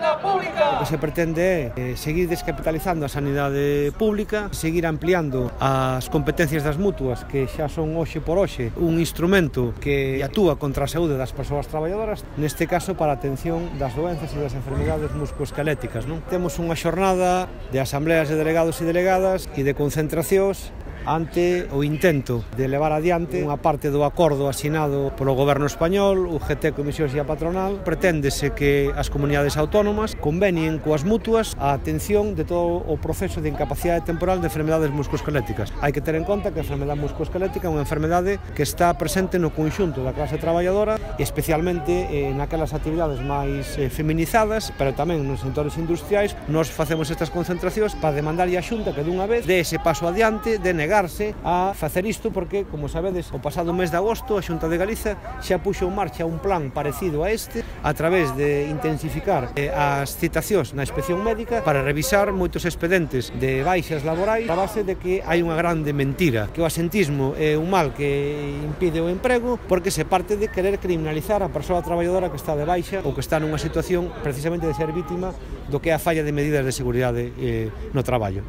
na pública! O que se pretende é seguir descapitalizando a sanidade pública, seguir ampliando as competencias das mutuas, que xa son hoxe por hoxe un instrumento que actúa contra a saúde das persoas traballadoras, neste caso para a atención das doenzas e das enfermidades musculoesqueléticas. Temos unha xornada de asambleas de delegados e delegadas e de concentracións ante o intento de levar adiante unha parte do acordo asinado polo Goberno español, UGT, Comisións e a patronal. Preténdese que as comunidades autónomas convenien coas mutuas a atención de todo o proceso de incapacidade temporal de enfermedades musculoesqueléticas. Hai que ter en conta que a enfermedade musculoesquelética é unha enfermedade que está presente no conxunto da clase traballadora, especialmente naquelas actividades máis feminizadas, pero tamén nos sectores industriais. Nos facemos estas concentracións para demandarlle a Xunta que dunha vez dé ese paso adiante de negar a facer isto, porque, como sabedes, o pasado mes de agosto a Xunta de Galiza xa puxo en marcha un plan parecido a este a través de intensificar as citacións na inspección médica para revisar moitos expedentes de baixas laborais a base de que hai unha grande mentira, que o asentismo é un mal que impide o emprego, porque se parte de querer criminalizar a persoa traballadora que está de baixa ou que está nunha situación precisamente de ser vítima do que é a falla de medidas de seguridade no traballo.